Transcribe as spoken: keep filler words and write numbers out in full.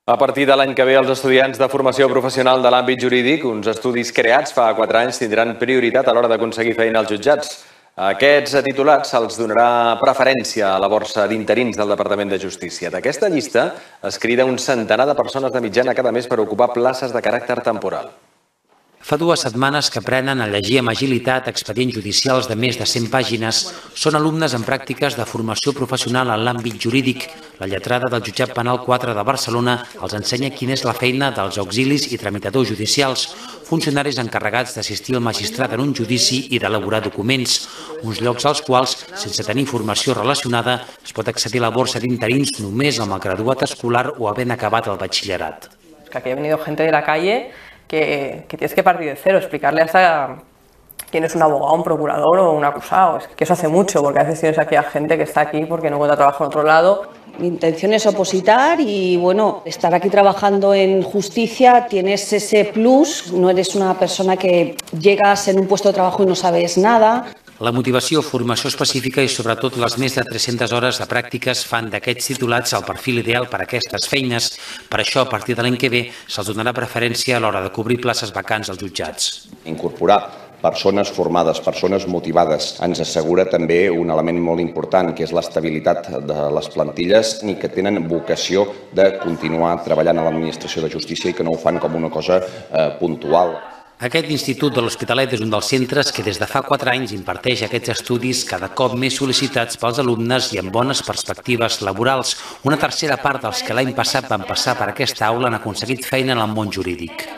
A partir de l'any que ve, els estudiants de formació professional de l'àmbit jurídic, uns estudis creats fa quatre anys, tindran prioritat a l'hora d'aconseguir feina als jutjats. A aquests titulats se'ls donarà preferència a la borsa d'interins del Departament de Justícia. D'aquesta llista es crida un centenar de persones de mitjana cada mes per ocupar places de caràcter temporal. Fa dues setmanes que aprenen a llegir amb agilitat expedients judicials de més de cent pàgines. Són alumnes en pràctiques de formació professional en l'àmbit jurídic. La lletrada del Jutjat Penal quatre de Barcelona els ensenya quina és la feina dels auxilis i tramitadors judicials, funcionaris encarregats d'assistir el magistrat en un judici i d'elaborar documents, uns llocs als quals, sense tenir formació relacionada, es pot accedir a la borsa d'interins només amb el graduat escolar o havent acabat el batxillerat. Que aquí ha venido gente de la calle Que, que tienes que partir de cero, explicarle hasta quién es un abogado, un procurador o un acusado. Es que eso hace mucho, porque a veces tienes aquí a gente que está aquí porque no encuentra trabajo en otro lado. Mi intención es opositar y, bueno, estar aquí trabajando en justicia, tienes ese plus, no eres una persona que llegas en un puesto de trabajo y no sabes nada. La motivació, formació específica i sobretot les més de tres-centes hores de pràctiques fan d'aquests titulats el perfil ideal per a aquestes feines. Per això, a partir de l'any que ve, se'ls donarà preferència a l'hora de cobrir places vacants als jutjats. Incorporar persones formades, persones motivades, ens assegura també un element molt important, que és l'estabilitat de les plantilles i que tenen vocació de continuar treballant a l'administració de justícia i que no ho fan com una cosa eh, puntual. Aquest Institut de l'Hospitalet és un dels centres que des de fa quatre anys imparteix aquests estudis cada cop més sol·licitats pels alumnes i amb bones perspectives laborals. Una tercera part dels que l'any passat van passar per aquesta aula han aconseguit feina en el món jurídic.